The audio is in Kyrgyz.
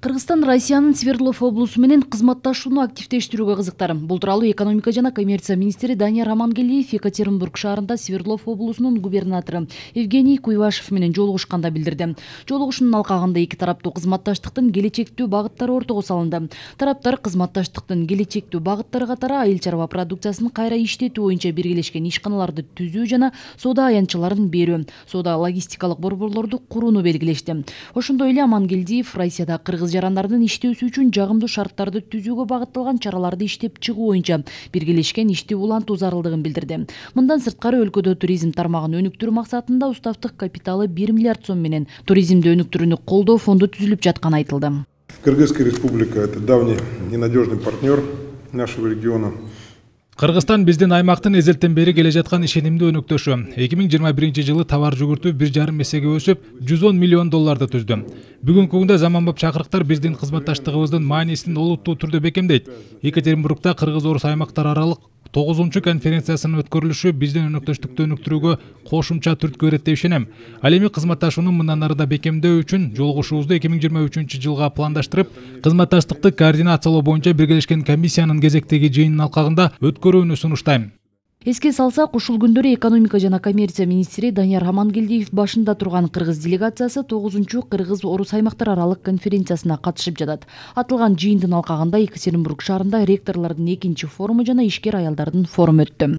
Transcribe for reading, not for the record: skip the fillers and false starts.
Кыргызстан Россиянын Свердлов облусу менен кызматташууну активдештирүүгө кызыктар. Бул тууралуу экономика жана коммерция министри Данияр Амангелдиев Екатеринбург шаарында Свердлов облусунун губернатору Евгений Куйвашев менен жолугушканда билдирди. Жолугушуунун алкагында эки тараптуу кызматташтыктын келечектүү багыттары ортого салынды. Тараптар кызматташтыктын келечектүү багыттары катары айыл чарба продукциясын кайра иштетүү боюнча биргелешкен ишканаларды түзүү жана соода аянтчаларын берүү, соода логистикалык борборлорду курууну белгилешти. Ошондой эле Амангелдиев Россияда кыргыз жарандардын иштөөсү үчүн жагымдуу шарттарды түзүүгө багытталган чараларды иштеп чыгуу боюнча биргелешкен ишти улантуу зарылдыгын билдирди. Мындан сырткары өлкөдө туризм тармагын өнүктүрүү максатында уставдык капиталы 1 миллиард сом менен туризмди өнүктүрүүнү колдоо фонду түзүлүп жатканы айтылды. Кыргызская республика – это давний и надежный партнер нашего региона. Кыргызстан биздин аймактын эзелтен бери келе жаткан ишенимдүү өнөктөшү. 2021-жылы товар жүгүртүү 1,5 эсеге өсүп, 110 миллион долларды түздү. Бүгүнкү күндө заманбап чакырыктар биздин кызматташтыгыбыздын маанисин олуттуу түрдө бекемдейт. Екатеринбургда кыргыз-орус аймактар аралык 9-чу конференциясынын өткөрүлүшү биздин өнөктөштүктү өнүктүрүүгө кошумча түрткү берет деп ишенем. Ал эми кызматташууну мындан ары да бекемдөө үчүн жолугушуубузду 2023-жылга пландаштырып, кызматташтыкты координациялоо боюнча биргелешкен комиссиянын кезектеги жыйынынын алкагында өткөрүүнү сунуштайм. Эске салсак, ушул күндөрү экономика жана коммерция министри Данияр Амангелдиев башында турган кыргыз делегациясы 9-чу кыргыз-орус аймактар аралык конференциясына катышып жатат. Атылган жыйындын алкагында Екатеринбург шаарында ректорлордун 2-чи форуму жана ишкер аялдардын форуму өттү.